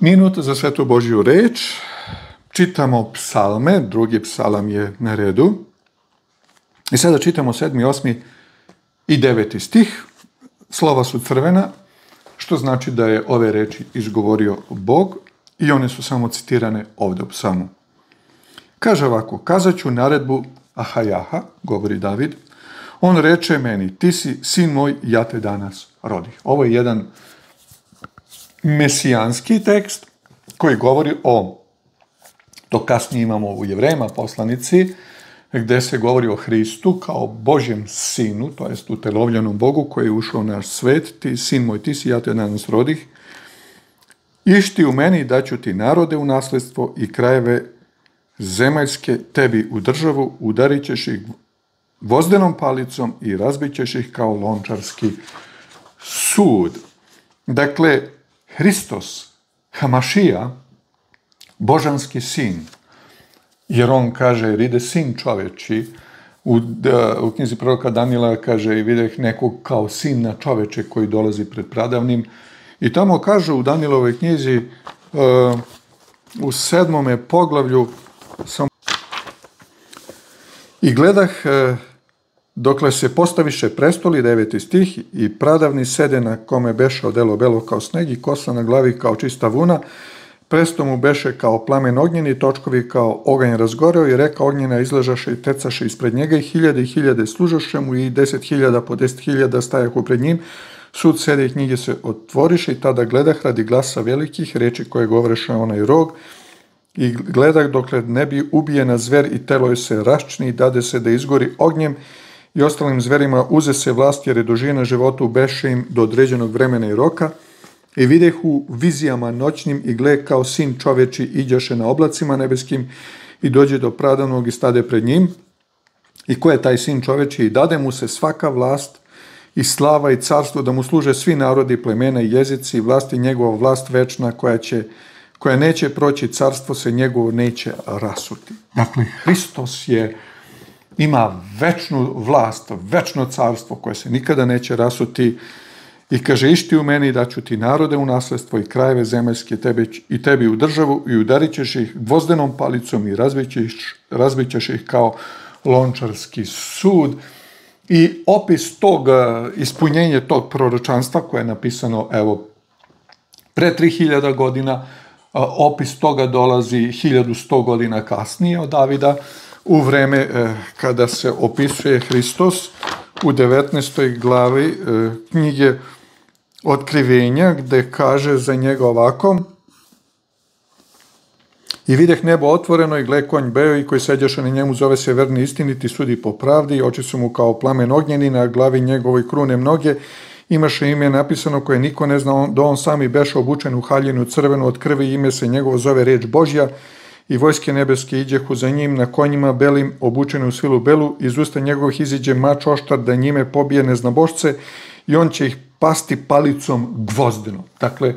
Minut za Svetu Božju reč. Čitamo psalme, drugi psalam je na redu. I sada čitamo 7., 8. i 9. stih. Slova su crvena, što znači da je ove reči izgovorio Bog i one su samo citirane ovdje u psalmu. Kaže ovako: kazat ću naredbu Ahajaha, govori David, on reče meni, ti si sin moj, ja te danas rodih. Ovo je jedan mesijanski tekst koji govori to kasnije imamo u Jevrejima poslanici, gdje se govori o Hristu kao Božjem sinu, to jest utelovljenom Bogu koji je ušao u naš svet, ti sin moj, ti si, ja te danas rodih. Išti u meni, daću ti narode u nasljedstvo i krajeve zemaljske tebi u državu, udarit ćeš ih gvozdenom palicom i razbit ćeš ih kao lončarski sud. Dakle, Hristos, Hamašija, božanski sin, jer on kaže, jer ide sin čoveči, u knjizi proroka Danila kaže, i videh nekog kao sin na čoveče koji dolazi pred pradavnim. I tamo kaže u Danilovoj knjizi, u 7. poglavlju, i gledah, dokle se postaviše prestoli, 9. stih, i pradavni sede na kome beše odelo belo kao sneg i kosa na glavi kao čista vuna, presto mu beše kao plamen ognjeni, točkovi kao oganj razgoreo i reka ognjena izležaše i tecaše ispred njega i hiljade služaše mu i 10.000 po 10.000 stajahu pred njim. Sud sede i knjige se otvoriše i tada gledah radi glasa velikih reči koje govoreše onaj rog i gledah dokle ne bi ubijena zver i telo je se raščni i dade se da izgori ognjem i ostalim zverima uze se vlast jer je dužina životu beše im do određenog vremena i roka. I videh u vizijama noćnim i gle kao sin čoveči iđaše na oblacima nebeskim i dođe do pradavnog i stade pred njim. I ko je taj sin čoveči? I dade mu se svaka vlast i slava i carstvo da mu služe svi narodi, plemena i jezici i vlast i njegova vlast večna koja neće proći, carstvo se njegovo neće rasuti. Dakle, Hristos ima večnu vlast, večno carstvo koje se nikada neće rasuti. I kaže, išti u meni, daću ti narode u nasljedstvo i krajeve zemaljske tebi u državu i udarit ćeš ih gvozdenom palicom i razbit ćeš ih kao lončarski sud. I opis tog, ispunjenje tog proročanstva koje je napisano pre 3000 godina, opis toga dolazi 1100 godina kasnije od Davida, u vreme kada se opisuje Hristos u 19. glavi knjige Otkrivenja, gde kaže za njega ovako: i videh nebo otvoreno i gle konj beo i koji seđaše na njemu zove se verni istiniti, sudi po pravdi i oči su mu kao plamen ognjeni, na glavi njegovoj krune mnoge, imaše ime napisano koje niko ne zna, da on sami beše obučen u haljinu crvenu od krvi, ime se njegovo zove reč Božja i vojske nebeske iđehu za njim na konjima belim obučeni u svilu belu, iz usta njegovih iziđe mač oštar da njime pobije neznabošce i on će ih pasti palicom gvozdenom. Dakle,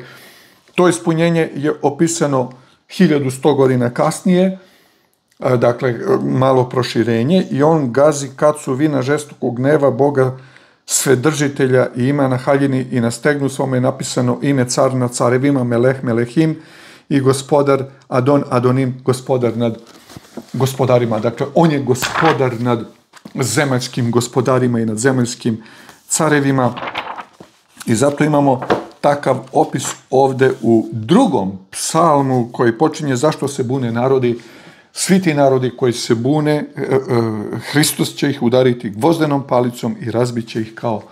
to ispunjenje je opisano 1100 godina kasnije, dakle, malo proširenje, i on gazi kacu vina žestokog gneva Boga Svedržitelja i ima na haljini i na stegnu svome je napisano ime car nad carevima, Meleh Melehim, i gospodar Adon Adonim, gospodar nad gospodarima. Dakle, on je gospodar nad zemaljskim gospodarima i nad zemaljskim carevima. I zato imamo takav opis ovde u 2. psalmu koji počinje zašto se bune narodi. Svi ti narodi koji se bune, Hristos će ih udariti gvozdenom palicom i razbit će ih kao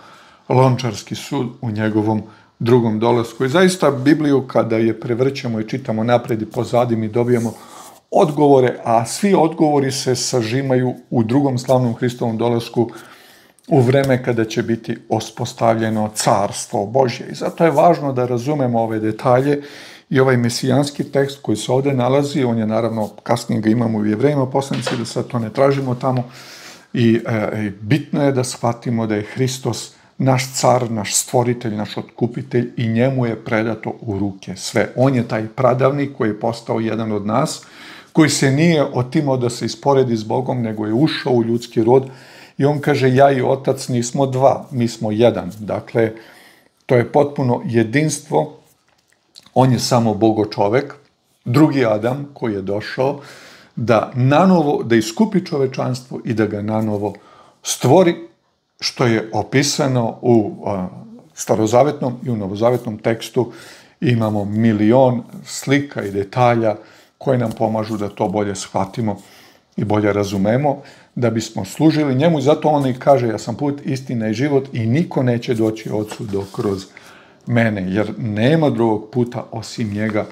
lončarski sud u njegovom drugom dolasku. I zaista Bibliju kada je prevrćemo i čitamo napred i pozadi mi dobijamo odgovore, a svi odgovori se sažimaju u drugom slavnom Hristovom dolasku u vreme kada će biti uspostavljeno carstvo Božje. I zato je važno da razumemo ove detalje i ovaj mesijanski tekst koji se ovdje nalazi, on je naravno, kasnije ga imamo u Jevrejima poslanici, da sad to ne tražimo tamo, i bitno je da shvatimo da je Hristos naš car, naš stvoritelj, naš otkupitelj i njemu je predato u ruke sve. On je taj pradavnik koji je postao jedan od nas, koji se nije otimao da se isporedi s Bogom, nego je ušao u ljudski rod i on kaže, ja i otac nismo dva, mi smo jedan. Dakle, to je potpuno jedinstvo On je samo Bogo čovek, drugi Adam koji je došao da iskupi čovečanstvo i da ga nanovo stvori, što je opisano u starozavetnom i u novozavetnom tekstu. Imamo milion slika i detalja koje nam pomažu da to bolje shvatimo i bolje razumemo, da bismo služili njemu. Zato on i kaže, ja sam put, istina i život i niko neće doći Ocu dok kroz mene, jer nema drugog puta osim njega,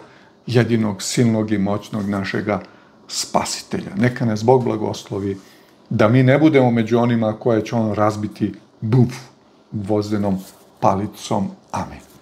jedinog silnog i moćnog našega spasitelja. Neka nas Bog blagoslovi, da mi ne budemo među onima koje će on razbiti gvozdenom palicom. Amen.